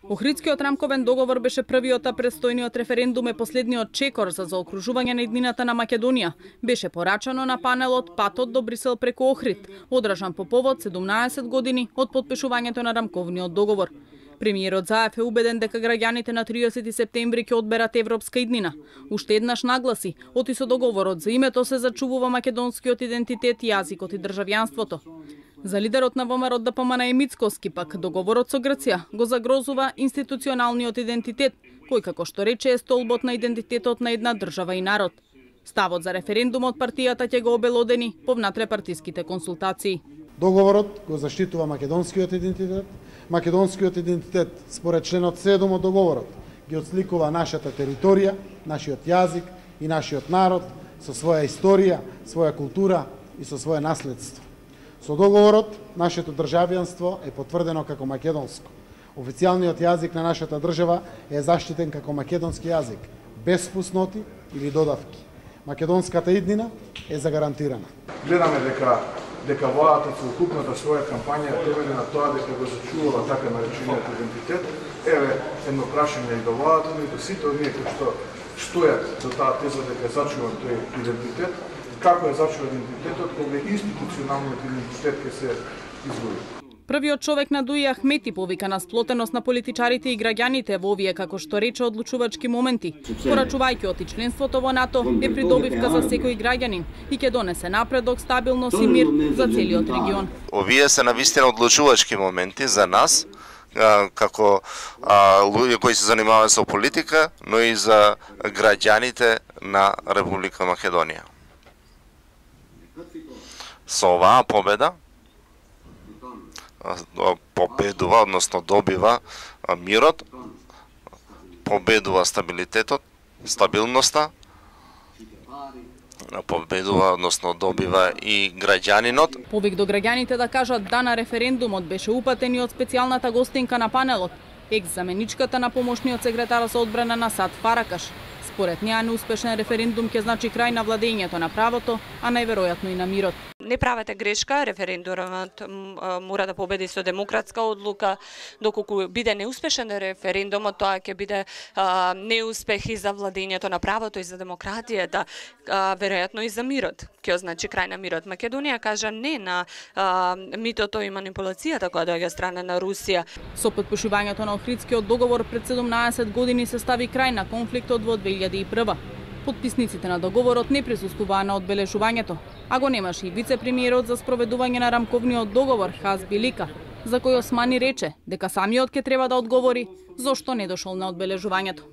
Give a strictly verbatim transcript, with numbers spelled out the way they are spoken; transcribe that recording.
Охридскиот рамковен договор беше првиот, а предстојниот референдум е последниот чекор за заокружување на иднината на Македонија. Беше порачано на панелот Патот до Брисел преку Охрид, одржан по повод седумнаесет години од потпишувањето на рамковниот договор. Премиерот Заев е убеден дека граѓаните на триесети септември ќе одберат европска иднина. Уште еднаш нагласи, оти со договорот за името се зачувува македонскиот идентитет, јазикот и државјанството. За лидерот на ВМРО ДПМН Еми Мицкоски пак договорот со Грција го загрозува институционалниот идентитет, кој како што рече е столбот на идентитетот на една држава и народ. Ставот за референдумот партијата ќе го обелодени по внатре-партиските консултации. Договорот го заштитува македонскиот идентитет. Македонскиот идентитет според членот седум од договорот ги отсликува нашата територија, нашиот јазик и нашиот народ со своја историја, своја култура и со свое наследство. Со договорот нашето државјанство е потврдено како македонско. Официјалниот јазик на нашата држава е заштитен како македонски јазик, без фусноти или додавки. Македонската иднина е загарантирана. Гледаме дека дека владата со укупната своја кампања темели на тоа дека го зачувала така наречениот идентитет. Еве едно прашање и до владата, но и до сите оние кои што стојат до таа теза дека зачува тој идентитет. Како е зачува идентитетот кога институционалниот идентитет ќе се изгуби? Првиот човек на Дуи Ахмети повика на сплотеност на политичарите и граѓаните во овие, како што рече, одлучувачки моменти. Порачувајќи оти членството во НАТО е придобивка за секој граѓанин и ќе донесе напредок, стабилност и мир за целиот регион. Овие се навистина одлучувачки моменти за нас, како луѓе кои се занимаваат со политика, но и за граѓаните на Република Македонија. Со оваа победа победува, односно добива мирот, победува стабилитетот, стабилноста, победува, односно добива и граѓанинот. Повик до граѓаните да кажат да на референдумот беше упатен и од специјалната гостинка на панелот, екс-заменичката на помошниот секретар за одбрана на Сад Фаракаш. Според неа неуспешен референдум ќе значи крај на владењето на правото, а најверојатно и на мирот. Не правете грешка, референдумот мора да победи со демократска одлука, доколку биде неуспешен референдумот, тоа ќе биде а, неуспех и за владењето на правото и за демократијата, а, веројатно и за мирот. Ќе означи крај на мирот. Македонија кажа не на а, митото и манипулацијата која доаѓа страна на Русија. Со потпишувањето на Охридскиот договор пред седумнаесет години се стави крај на конфликтот во две илјади и прва. Потписниците на договорот не присуствуваа на одбележувањето, а го немаше и вице-премиерот за спроведување на рамковниот договор Хаз Билика, за кој Османи рече дека самиот ќе треба да одговори зошто не дошол на одбележувањето.